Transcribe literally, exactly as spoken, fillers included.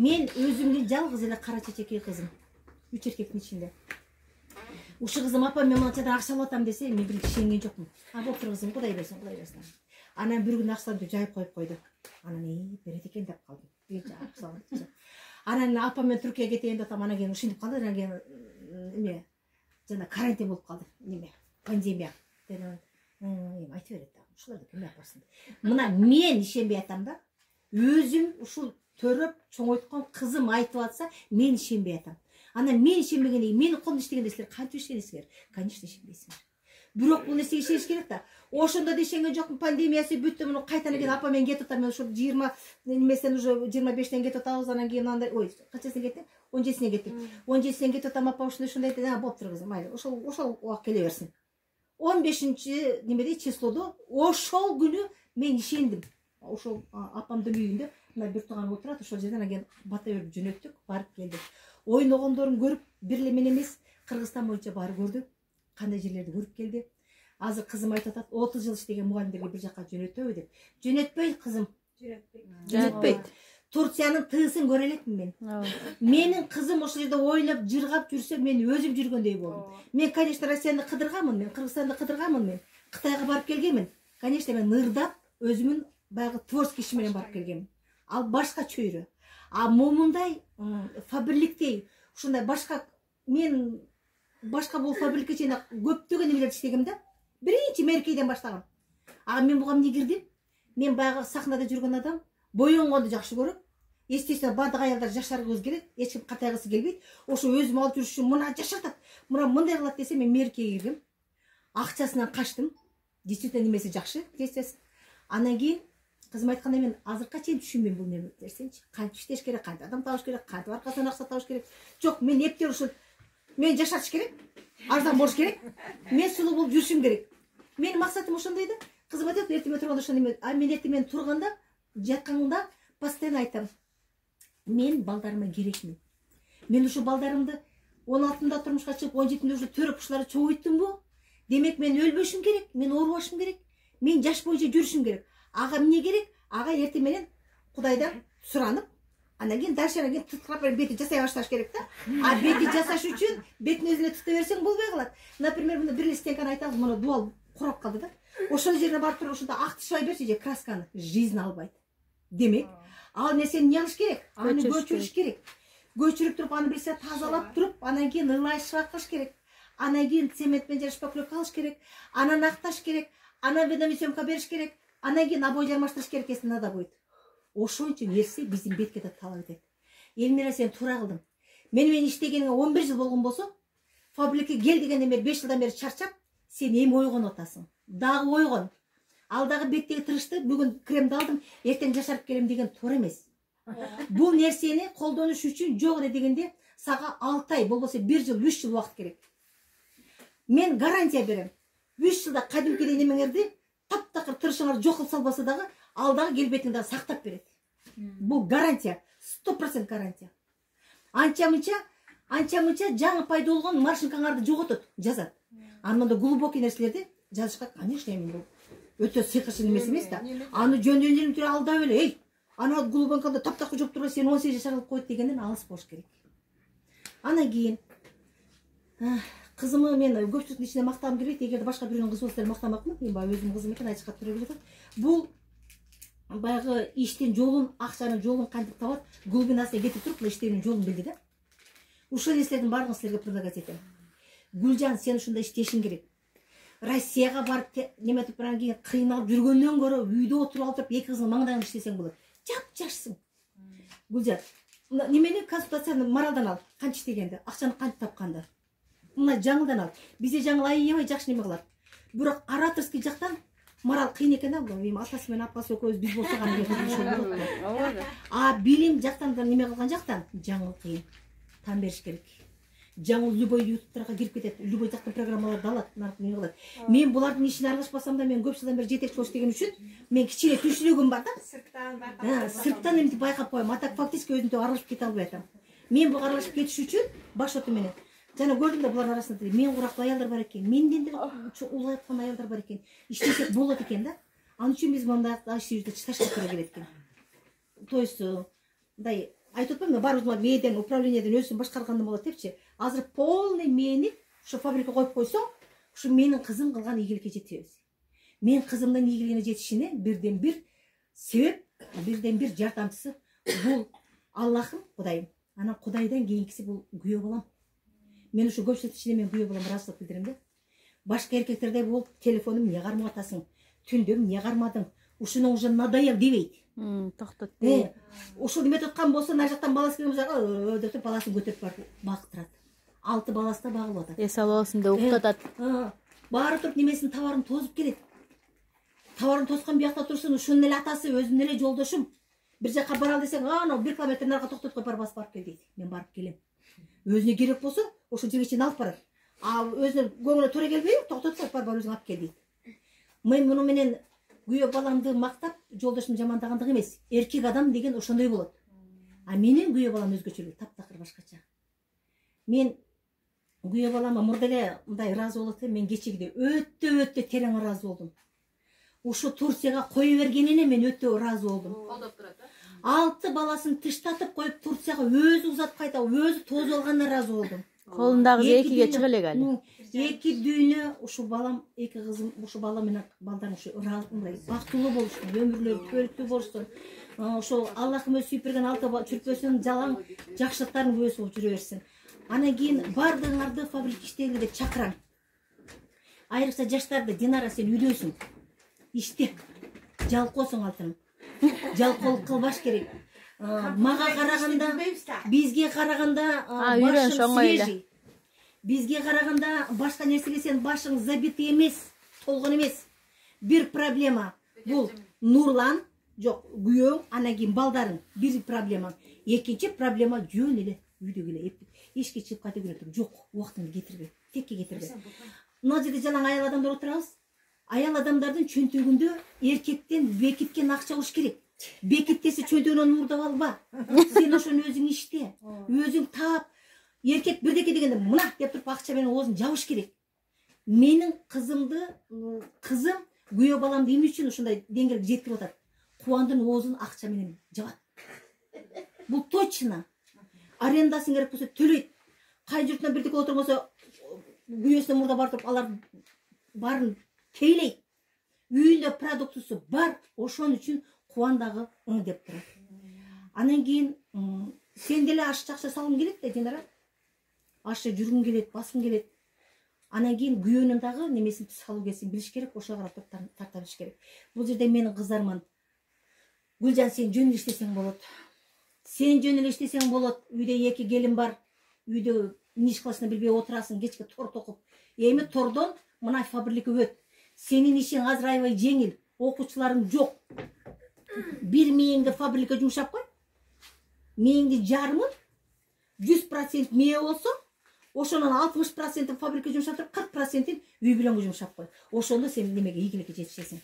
Мен өзүмдүн жалгыз эле кара чечекей кызым. Үч эркектин ичинде. Ушул кызым апа мен мынчадан акча алып атам десе, мен бир ишенген жокмун. А болуптур кызым, Кудай берсин, Кудай берсин. Анан бир күн акчамды жайып коюп койду. Анан эй, берет экен деп калдым. Бир акча. Анан апа мен Түркияга кетейин деп атам, анан кийин ушинтип калды, анан кийин эме жана карантин болуп калды. Неме? Пандемия. Эми айтып берет да. Ушуларды ким япарсын. Мына мен ишенбей атам да. Өзүм ушул төрөп чоңойткон кызым айтып атса, мен ишенбей атам. Анан мен ишенбегенден менин колумда иштегенде силер канча ишенесиңер? Конечно, ишенбейсиңер. Бирок бул нерсеге ишениш керек да. Ошондо да ишенген жокмун, пандемиясы бүттү, муну кайтадан келип апа мен кетип атам, мен ошо жыйырма немесен уже жыйырма бештен кетип атабыз, анан кийин андай, ой, канчасына кеттим? он жетисине кеттик. он жетисинен кетип атам, апа ушундай ушундай дейт, а болуптур кызым, майли, ошол ошол убак келе берсин. он бешинчи немеде числодо ошол күнү мен ишендим. Ошол апамдын үйүндө мына бир тууган отурат, ошол жерден анан бата берип жөнөттүк, барып келдик. Ойногондорун көрүп, бир эле мен эмес, Кыргызстан боюнча баары көрдү. Кандай жерлерди көрүп келди. Азыр кызым айтып атат, отуз жыл иштеген мугалимдерге бир жака жөнөтөбү деп. Жөнөтпөйт кызым. Жөнөтпөйт. Жөнөтпөйт. Турциянын тыысын көрө элекмин мен. Менин кызым ошол жерде ойноп, жыргап жүрсө, мен өзүм жүргөндөй болдум. Мен, конечно, Россияны кыдырганмын, мен Кыргызстанды кыдырганмын, мен Кытайга барып келгенмин. Конечно, мен ырдап, өзүмүн баягы творческий иши менен барып келгенмин. Ал башка чөйрө. А момундай фабриктей, ушундай башка мен башка бул фабрика ичинде көптөгөн нелерди иштегем да. Биринчи меркейден баштагам. А мен буга эмне кирдим? Мен баягы сахнада жүргөн адам, боёнгонду жакшы көрөм. Естественно, бардык аялдар жашаргыбыз келет, эч ким катайгысы келбейт. Ошо өзүм алып жүрүш үчүн мына жашатат, мына мындай кылат десе, мен меркеге кирдим. Акчасынан качтым. Действительно немеси жакшы, десес. Анан кийин кызым айткандай мен азыркыга чейин түшүнбөйм бул нерсени. Кантип иштеш керек, кантип адам табыш керек, кантип аркасынан акча табыш керек. Жок, мен эптеп ушул мен жашатыш керек, арзан болуш керек. Мен сулуу болуп жүрүшүм керек. Менин максатым ошондой да. Кызым айтат, эртең турганда ошондой эме. А мен эртең мен турганда, жатканда постоянно айтам. Мен балдарыма керекмин. Мен ушу балдарымды он алтында турмушка чыгып, он жетимде уже төрөп ушуларды чоңойттумбу? Демек мен өлбөшүм керек, мен оорубашым керек. Мен жаш боюнча жүрүшүм керек. Ага эмне керек? Ага эртең менен Кудайдан суранып, анан кийин дальше анан кийин тыткырап бети жасай башташ керек да. А бети жасаш үчүн бетин өзүнө тыта берсең болбой калат. Например, мына бир эле стенканы айтабыз, мына дуал курап калды да. Ошол жерине барып туруп ушунда ак тышпай берчи же красканы, жизнь албайт. Демек, ал нерсени эмне кылыш керек? Аны көчүрүш керек. Көчүрүп туруп, аны бирсе тазалап туруп, анан кийин ылай шакыш керек. Анан кийин цемент менен шпаклевка алыш керек. Анан акташ керек. Анан ведомосъемка бериш керек. Анан кийин обой жармаштырыш керек, если надо будет. Ошончо нерсе биздин бетке да талап этет. Элмира, сен туура кылдың. Мени менен иштегениңе он бир жыл болгон болсо, фабрикага кел дегенден бери беш жылдан бери чарчап, сен эми ойгонуп атасың. Дагы ойгон. Ал дагы беттеги тырышты, бүгүн кремди алдым, эртең жашарып келем деген туура эмес. Бул нерсени колдонуш үчүн жок эле дегенде сага алты ай, болбосо бир жыл, үч жыл убакыт керек. Мен гарантия берем. үч жылда кадимкидей немеңерди таптакыр тырышыңар жок кылып салбаса дагы, ал дагы келбетиңди сактап берет. Бул гарантия, сто процент гарантия. Анча-мынча, анча-мынча жаңы пайда болгон машинкаңарды жоготот, жазат. Анында глубокий нерселерди жазышка, конечно, эми бул өтө сыйкырчы эмес эмес да. Аны жөндөн эле алдап эле, эй, аны глубокийда таптакыр жоп турган сен он сегиз жашар кылып койт дегенден алыс болуш керек. Анан кийин кызымы мен көпчүлүктүн ичинде мактагым келбейт, эгерде башка бирөөнүн кызы болсо мактамакмын, мен баягы өзүмдүн кызым экен, айтышка туура келет. Бул баягы иштин жолун, акчанын жолун кантип табат, глубинасына кетип туруп, иштеүүнүн жолун билди да. Ушул нерселердин баардыгын силерге предлагать этем. Гүлжан, сен ушундай иштешиң керек. Россияга барып неметип баран кийин кыйналып жүргөндөн көрө үйдө отуруп алып туруп эки кыздын маңдайын иштесең болот. Жап-жашсың. Гүлжан, немени консультацияны моралдан ал, канча иштегенди, акчаны кантип тапканды. Мына жаңылдан ал. Бизде жаңыл аябай жакшы неме кылат. Бирок ораторский жактан морал кыйын экен да, эми атасы менен апасы экөөбүз биз болсок аны болот. А билим жактан да неме кылган жактан жаңыл кыйын. Тан бериш керек. Жаңыл любой ютубтарга кирип кетет, любой жактан программаларды алат, неме кылат. Мен булардын ишине аралашпасам да, мен көп жылдан бери жетекчи болуш деген үчүн мен кичине түшүнүгүм бар да. Сырттан байкап. Сырттан эмне байкап коем, а так фактически өзүмдү аралашып кете албай атам. Мен буга аралашып кетиш үчүн баш оту менен жана көрдүм да, булардын арасында мен курактуу аялдар бар экен, менден деле улайып калган аялдар бар экен. Иштесек болот экен да. Ал үчүн биз мындай ишибизди чыташка туура келет экен. То есть мындай айтып атпаймынбы, баарыбыз мээден, управлениядан өзүн башкарганда болот депчи. Азыр полный мени ушу фабрика коюп койсоң, ушу менин кызым кылган ийгиликке жете беребиз. Мен кызымдын ийгилигине жетишине бирден бир себеп, бирден бир жардамчысы бул Аллахым, Кудайым. Анан Кудайдан кийинкиси бул күйөө балам. Мен ушу көпчүлүк ичинде мен күйөө балам ыраазычылык билдирем да. Башка эркектердей болуп, телефонум эмне кармап атасың, түндө эмне кармадың, ушуну уже надоел дебейт. Токтот. Э, ушул неметип аткан болсо, ана жактан баласы келген болсо, деп баласын көтөрүп барып багыктырат. Алты баласы да багылып атат. Эс албасын деп уктатат. Баары туруп немесин товарын тозуп келет. Товарын тоскон биякта турсун, ушунун эле атасы, өзүнүн эле жолдошум. Бир жака баралы десең, анау бир километр нарга токтотуп коюп барып басып кел дейт. Мен барып келем. Өзүнө керек болсо, ошол жерге чейин алып барат. А өзүнүн көңүлүнө туура келбейби, токтотуп коюп барып өзүң алып кел дейт. Мен муну менен күйөө баламды мактап, жолдошумду жамандагандык эмес. Эркек адам деген ошондой болот. А менин күйөө балам өзгөчөлүк, таптакыр башкача. Мен күйөө балама мурда эле мындай ыраазы болот элем, мен кечигиде өтө өтө терең ыраазы болдум. Ушу Турцияга кое бергенине мен өтө ыраазы болдум. Колдоп турат, э? Алты баласын тыштатып коюп Турцияга өзү узатып кайта, өзү тозуп алганына ыраазы болдум. Колундагы экиге чыга элек али. Эки дүйнө ушу балам, эки кызым, ушу бала менен балдарым ушу мындай бактылуу болушун, өмүрлөрү көрүктүү болушун. Ошол Аллахым өзү сүйүп берген алты чүрпөсүн жалаң жакшылыктарын күбөсү болуп жүрө берсин. Анан кийин бардыгыңарды фабрика иштегиле деп чакырам. Айрыкча жаштарды, Динара сен үйдөсүң. Иште. Жалкоосуң алтыным. Жалкоолук кылбаш керек. Мага караганда, бизге караганда башың свежий. Бизге караганда башка нерсеге сен башың забитый эмес, толгон эмес. Бир проблема бул Нурлан, жок, күйөөң, анан кийин балдарың. Бир проблема. Экинчи проблема жөн эле үйдө эле ишке чыгып кайта келет. Жок, убактыңды кетирбе, текке кетирбе. Мына жерде жалаң аял адамдар отурабыз. Аял адамдардын чөнтөгүндө эркектен бекиткен акча болуш керек. Бекиттесе чөнтөгүнөн мурдап алба. Сен ошону өзүң иште, өзүң таап. Эркек бирдеке дегенде мына деп туруп акча менен оозун жабыш керек. Менин кызымды, кызым күйөө баламды эмне үчүн ушундай деңгээлге жеткирип атат? Кубандын оозун акча менен жабат. Бул точно. Арендасын керек болсо төлөйт. Кай журтунан бирдеке отурмаса, күйөөсүнө мурда барып туруп алар баарын тейлейт. Үйүндө продуктусу бар, ошон үчүн кубандагы ың деп турат. Анан кийин сен деле аш акча салгың келет да, Динара. Ашы жүргүң келет, баскың келет. Анан кийин күйөөнүн дагы немесин психологиясын билиш керек, ошого карап тарта билиш керек. Бул жерде менин кыздарыман. Гүлжан, сен жөн эле иштесең болот. Сен жөн эле иштесең болот. Үйдө эки келин бар. Үйдө эмне иш кылышын билбей отурасың, кечке торт окуп. Эми тордон мына фабрика өт. Сенин ишиң азыр аябай жеңил. Окуучуларың жок. Бир мээңди фабрика жумшап кой. Мээңди жарымын жүз процент мээ болсо, ошонун алтымыш процентин фабрика жумшап туруп, кырк процентин үй бүлөнгө жумшап кой. Ошондо сен немеге ийгиликке жетишесиң.